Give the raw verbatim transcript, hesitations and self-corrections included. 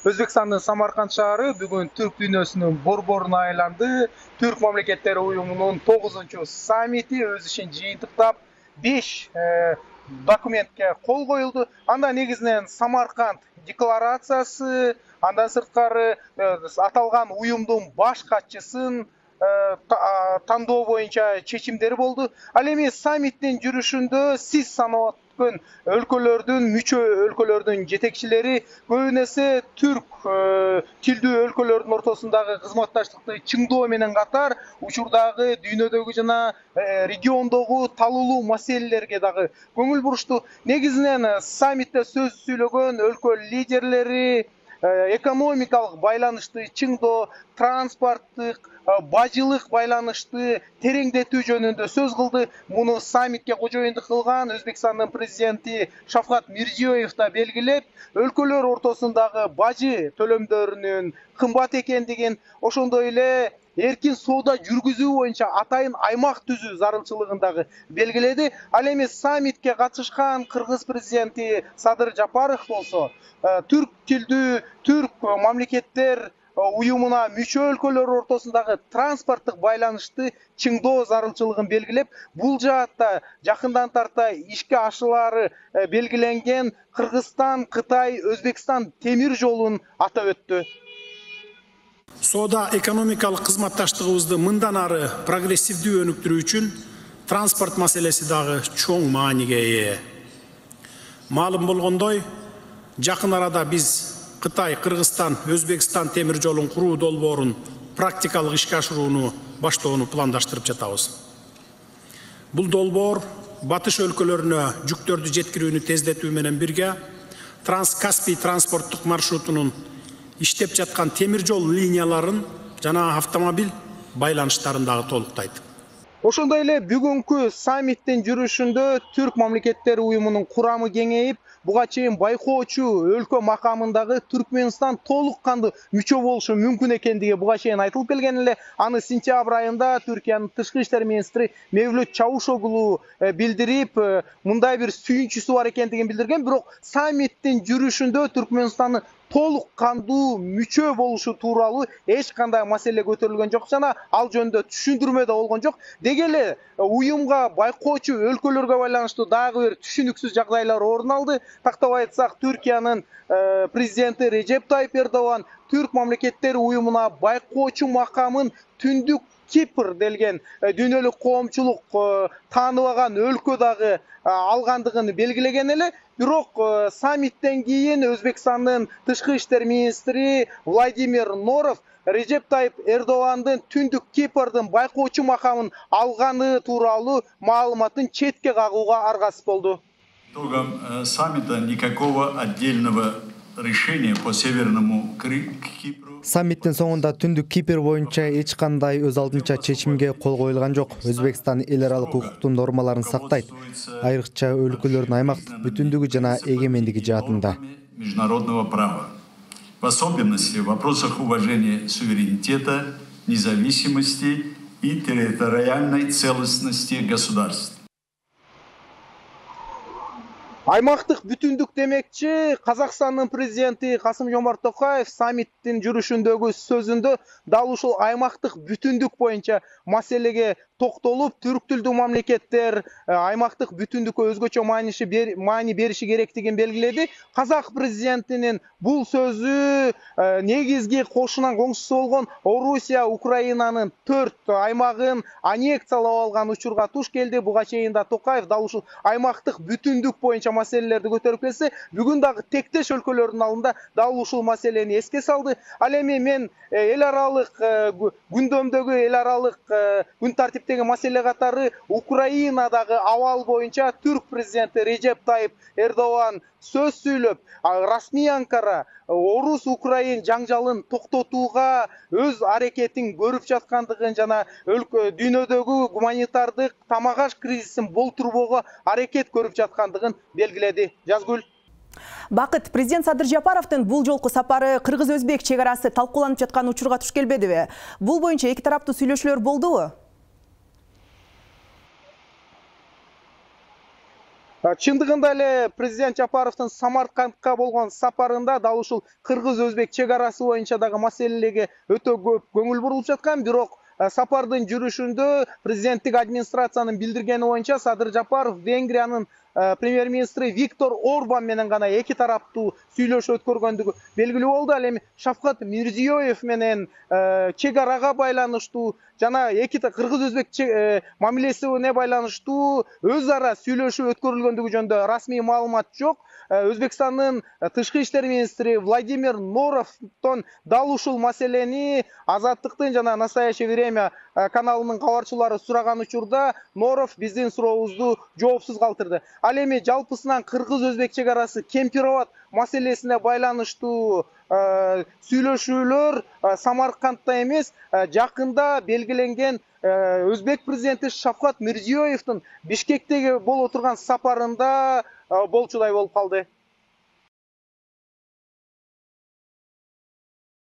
Өзбекстандын Самарканд шаары бүгүн түрк дүйнөсүнүн борборуна айланды. Түрк мамлекеттери уюмунун тогузунчу саммити өз ишин жыйынтыктап беш документке кол коюлду. Анда негизинен Самарканд декларациясы, андан сырткары аталган уюмдун баш катчысын тандоо боюнча чечимдер болду. Ал эми саммиттин жүрүшүндө сиз санап өткөн өлкөлөрдүн мүчө өлкөлөрдүн жетекчилери көбүнесе түрк тилдүү өлкөлөрдүн ортосундагы кызматташтыкты чыңдоо менен катар учурдагы дүйнөдөгү жана региондогу талуулуу маселелерге дагы көңүл бурушту. Негизинен саммитте сөз сүйлөгөн өлкө лидерлери экономикалык байланышты чыңдоо, транспорттук, бажылык байланышты тереңдетүү жөнүндө сөз кылды. Муну саммитке кожоюндук кылган Өзбекстандын президенти Шавкат Мирзиёев да белгилеп, өлкөлөр ортосундагы бажы төлөмдөрүнүн кымбат экендигин, ошондой эле эркин соода жүргүзүү боюнча атайын аймак түзүү зарылчылыгын дагы белгиледи. Ал эми саммитке катышкан Кыргыз президенти Садыр Жапаров болсо, түрк тилдүү түрк мамлекеттер уюмуна мүчө өлкөлөр ортосундагы транспорттук байланышты чыңдоо зарылчылыгын белгилеп, бул жаатта жакындан тарта ишке ашылары белгиленген Кыргызстан, Кытай, Өзбекстан темир жолун атап өттү. Соода экономикалык кызматташтыгыбызды мындан ары прогрессивдүү өнүктүрүү үчүн транспорт маселеси дагы чоң мааниге ээ. Маалым болгондой, жакын арада биз Кытай, Кыргызстан, Өзбекстан темир жолун куруу долбоорун практикалык ишке ашырууну баштоону пландаштырып жатабыз. Бул долбоор батыш өлкөлөрүнө жүктөрдү жеткирүүнү тездетүү менен бирге Транс-Каспий транспорттук маршрутунун иштеп жаткан темир жол линияларын жана автомобиль байланыштарын дагы толуктайт. Ошондой эле бүгүнкү саммиттин жүрүшүндө түрк мамлекеттери уюмунун курамы кеңейип, буга чейин байкоочу өлкө макамындагы Түркмөнстан толук кандуу мүчө болушу мүмкүн экендиги буга чейин айтылып келген эле. Аны сентябрь айында Түркиянын тышкы иштер министри Мевлют Чавушоглу билдирип, мындай бир сүйүнчүсү бар экендигин билдирген. Бирок саммиттин жүрүшүндө Түркмөнстандын толук кандуу мүчө болушу тууралуу эч кандай маселе көтөрүлгөн жок жана ал жөнүндө түшүндүрмө да болгон жок. Деги эле уюмга байкоочу өлкөлөргө байланыштуу дагы бир түшүнүксүз жагдайлар орун алды. Тактап айтсак, Түркиянын президенти Режеп Тайып Эрдоган түрк мамлекеттери уюмуна байкоочу макамын Түндүк Кипр делген дүйнөлүк коомчулук тааныбаган өлкө дагы алгандыгын белгилеген эле. Бирок саммиттен кийин Өзбекстандын тышкы иштер министри Владимир Норов Режеп Тайып Эрдогандын Түндүк Кипрдын байкоочу макамын алганы тууралуу маалыматын четке кагууга аргасыз болду. Итогом саммита никакого отдельного решения по Северному Кипру. Саммиттин соңунда Түндүк Кипр боюнча эч кандай өз алдынча чечимге кол коюлган жок. Өзбекстан эл аралык укуктун нормаларын сактайт, айрыкча өлкөлөрдүн аймактык бүтүндүгү жана эгемендиги жаатында. Международного права, в особенности в вопросах уважения суверенитета, независимости и территориальной целостности государств. Аймактык бүтүндүк демекчи, Казакстандын президенти Касым-Жомарт Токаев саммиттин жүрүшүндөгү сөзүндө дал ушул аймактык бүтүндүк боюнча маселеге токтолуп, түрк тилдүү мамлекеттер аймактык бүтүндүккө өзгөчө маани бериши керектигин белгиледи. Казак президентинин бул сөзү негизги кошунан коңшусу болгон Орусия Украинанын төрт аймагын аннексиялап алган учурга туш келди. Буга чейин да Токаев дал ушул аймактык бүтүндүк боюнча маселелерди көтөрүп келсе, бүгүн дагы тектеш өлкөлөрдүн алдында дал ушул маселени эске салды. Ал эми мен эл аралык күндөмдөгү эл аралык күн тартиптеги маселе катары Украинадагы абал боюнча түрк президенти Режеп Тайып Эрдоган сөз сүйлөп, расмий Анкара Орус-Украин жаңжалын токтотууга өз аракетин көрүп жаткандыгын жана өлкө дүйнөдөгү гуманитардык тамак-аш кризисин болтурбоого аракет көрүп жаткандыгын белгиледи. Жазгүл. Бакыт, президент Садыр Жапаровдун бул жолку сапары кыргыз-өзбек чек арасы талкууланып жаткан учурга туш келбедиби? Бул боюнча эки тараптуу сүйлөшүүлөр болдубу? Чындыгында эле президент Жапаровдун Самаркандка болгон сапарында дал ушул кыргыз-өзбек чек арасы боюнча дагы маселелерге өтө көп көңүл бурулуп жаткан, бирок сапардын жүрүшүндө президенттик администрациянын билдиргени боюнча Садыр Жапаров Венгриянын премьер-министри Виктор Орбан менен гана эки тараптуу сүйлөшүү өткөргөндүгү белгилүү болду. Ал эми Шавкат Мирзиёев менен чек арага байланыштуу жана эки кыргыз-өзбек мамилесине байланыштуу өз ара сүйлөшүү өткөрүлгөндүгү жөнүндө расмий маалымат жок. Өзбекстандын тышкы иштер министри Владимир Норовдон дал ушул маселени Азаттыктын жана Настоящее время каналынын кабарчылары сураган учурда Норов биздин сурообузду жоопсуз калтырды. Ал эми жалпысынан кыргыз-өзбек чек арасы Кемпироват маселесине байланыштуу сүйлөшүүлөр Самаркандда эмес, жакында белгиленген Өзбек президенти Шавкат Мирзиёевдин Бишкектеги боло турган сапарында болчудай болуп калды.